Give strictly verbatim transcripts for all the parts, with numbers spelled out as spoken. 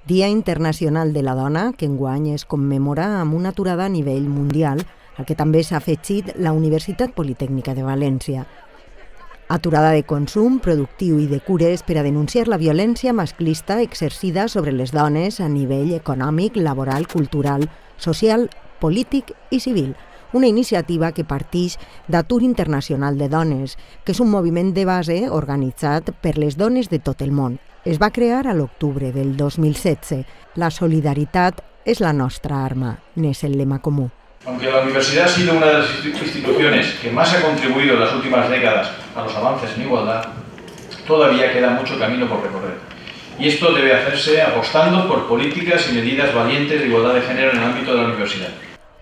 Dia Internacional de la Dona, que enguany es commemora amb una aturada a nivell mundial, al que també s'ha afegit la Universitat Politècnica de València. Aturada de consum, productiu i de cures per a denunciar la violència masclista exercida sobre les dones a nivell econòmic, laboral, cultural, social, polític i civil. Una iniciativa que partix d'Atur Internacional de Dones, que és un moviment de base organitzat per les dones de tot el món. Es va crear a l'octubre del dos mil setze. La solidaritat és la nostra arma, n'és el lema comú. Aunque la universidad ha sido una de las instituciones que más ha contribuido en las últimas décadas a los avances en igualdad, todavía queda mucho camino por recorrer. Y esto debe hacerse apostando por políticas y medidas valientes de igualdad de género en el ámbito de la universidad.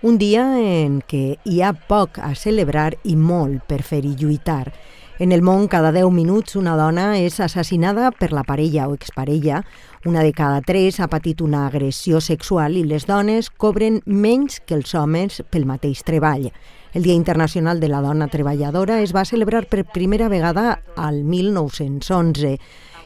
Un dia en què hi ha poc a celebrar i molt per fer-hi lluitar. En el món, cada deu minuts una dona és assassinada per la parella o exparella. Una de cada tres ha patit una agressió sexual i les dones cobren menys que els homes pel mateix treball. El Dia Internacional de la Dona Treballadora es va celebrar per primera vegada al mil nou-cents onze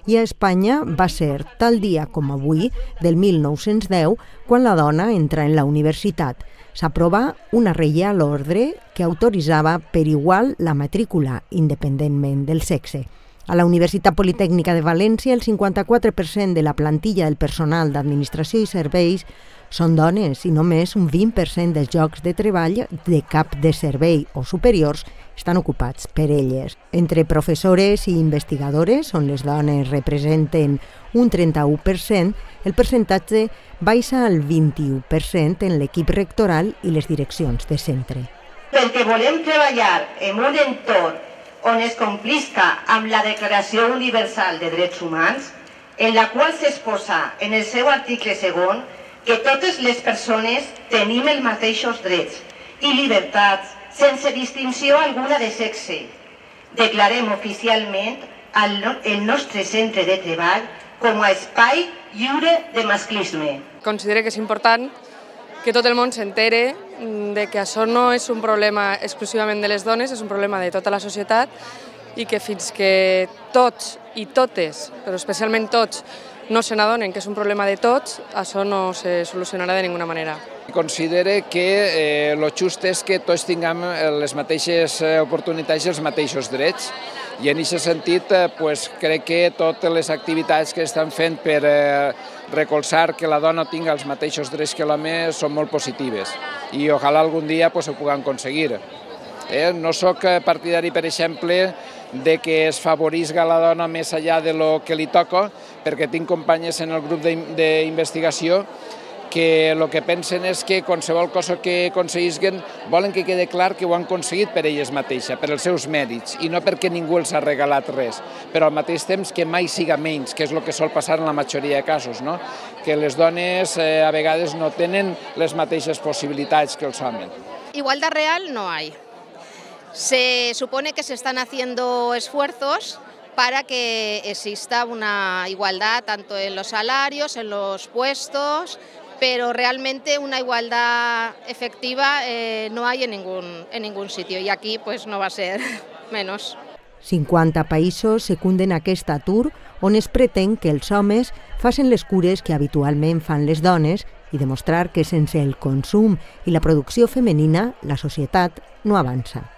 i a Espanya va ser tal dia com avui, del mil nou-cents deu, quan la dona entra en la universitat. S'aprova una Reial Ordre que autoritzava per igual la matrícula, independentment del sexe. A la Universitat Politècnica de València, el cinquanta-quatre per cent de la plantilla del personal d'administració i serveis són dones i només un vint per cent dels llocs de treball de cap de servei o superiors estan ocupats per elles. Entre professores i investigadores, on les dones representen un trenta-u per cent, el percentatge baixa al vint-i-u per cent en l'equip rectoral i les direccions de centre. Perquè volem treballar en un entorn on es complisca amb la Declaració Universal de Drets Humans, en la qual s'exposa en el seu article segon que totes les persones tenim els mateixos drets i llibertats sense distinció alguna de sexe. Declarem oficialment el nostre centre de treball com a espai lliure de masclisme. Considero que és important que tot el món s'entere de que això no és un problema exclusivament de les dones, és un problema de tota la societat i que fins que tots i totes, però especialment tots, no se n'adonen que és un problema de tots, això no se solucionarà de ninguna manera. Considere que el just és que tots tinguem les mateixes oportunitats i els mateixos drets. I en aquest sentit crec que totes les activitats que estan fent per recolzar que la dona tingui els mateixos drets que l'home són molt positives i ojalà algun dia ho puguem aconseguir. No soc partidari, per exemple, de que es favorisca la dona més enllà de lo que li toca, perquè tinc companyes en el grup d'investigació que el que pensen és que qualsevol cosa que aconseguisquen volen que quede clar que ho han aconseguit per elles mateixes, per els seus mèrits, i no perquè ningú els ha regalat res, però al mateix temps que mai siga menys, que és el que sol passar en la majoria de casos, no? Que les dones a vegades no tenen les mateixes possibilitats que els homes. Igualdad real no hay. Se supone que se están haciendo esfuerzos para que exista una igualdad tanto en los salarios, en los puestos, pero realmente una igualdad efectiva eh, no hay en ningún, en ningún sitio y aquí pues no va a ser menos. cinquanta països secunden aquest atur on es pretén que els homes facin les cures que habitualment fan les dones i demostrar que sense el consum i la producció femenina la societat no avança.